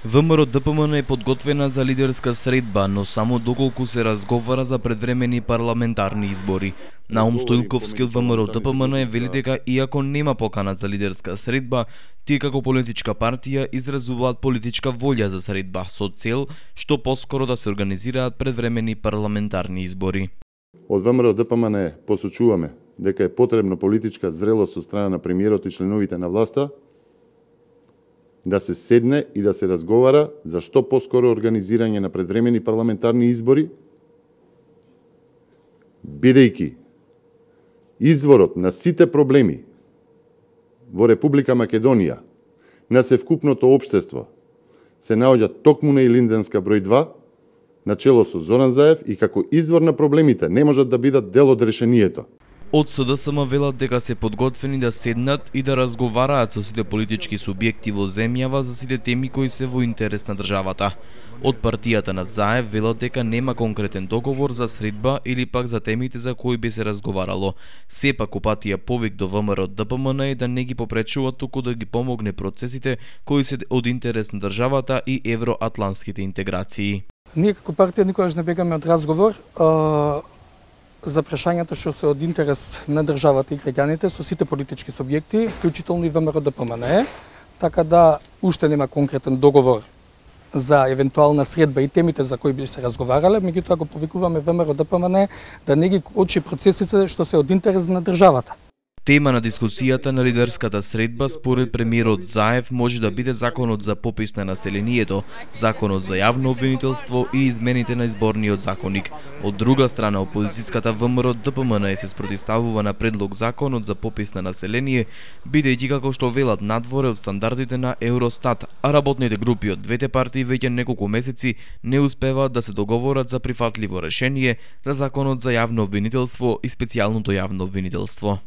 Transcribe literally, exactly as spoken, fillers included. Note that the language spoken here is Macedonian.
ВМРО-ДПМН е подготвена за лидерска средба, но само доколку се разговара за предвремени парламентарни избори. Наум Стојлковски од ВМРО-ДПМН вели дека иако нема покана за лидерска средба, тие како политичка партија изразуваат политичка волја за средба со цел што поскоро да се организираат предвремени парламентарни избори. Од ВМРО-ДПМН посочуваме дека е потребно политичка зрелост од страна на премиерот и членовите на власта да се седне и да се разговара за што поскоро организирање на предвремени парламентарни избори, бидејќи изворот на сите проблеми во Република Македонија, на севкупното општество, се наоѓа токму на Илинденска број два, начело со Зоран Заев, и како извор на проблемите не можат да бидат дел од решението. Од СДСМ велат дека се подготвени да седнат и да разговараат со сите политички субјекти во земјава за сите теми кои се во интерес на државата. Од партијата на Заев велат дека нема конкретен договор за средба или пак за темите за кои би се разговарало. Сепак опатија повик до ВМРО-ДПМН е да не ги попречува, туку да ги помогне процесите кои се од интерес на државата и евроатлантските интеграции. Ние како партија никогаш не бегаме од разговор а, за прашањата што се од интерес на државата и граѓаните со сите политички субјекти, вклучително и ВМРО-ДПМН, така да уште нема конкретен договор за евентуална средба и темите за кои би се разговарале, меѓутоа го повикуваме ВМРО-ДПМН да не ги очи процесите што се од интерес на државата. Тема на дискусијата на лидерската средба според премиерот Заев може да биде законот за попис на населението, законот за јавно обвинителство и измените на изборниот законник. Од друга страна, опозицијската ВМРО-ДПМН се спротивставува на предлог законот за попис на население, бидејќи како што велат надворе од стандардите на Евростат, а работните групи од двете партии веќе неколку месеци не успеваат да се договорат за прифатливо решение за законот за јавно обвинителство и специјалното јавно обвинителство.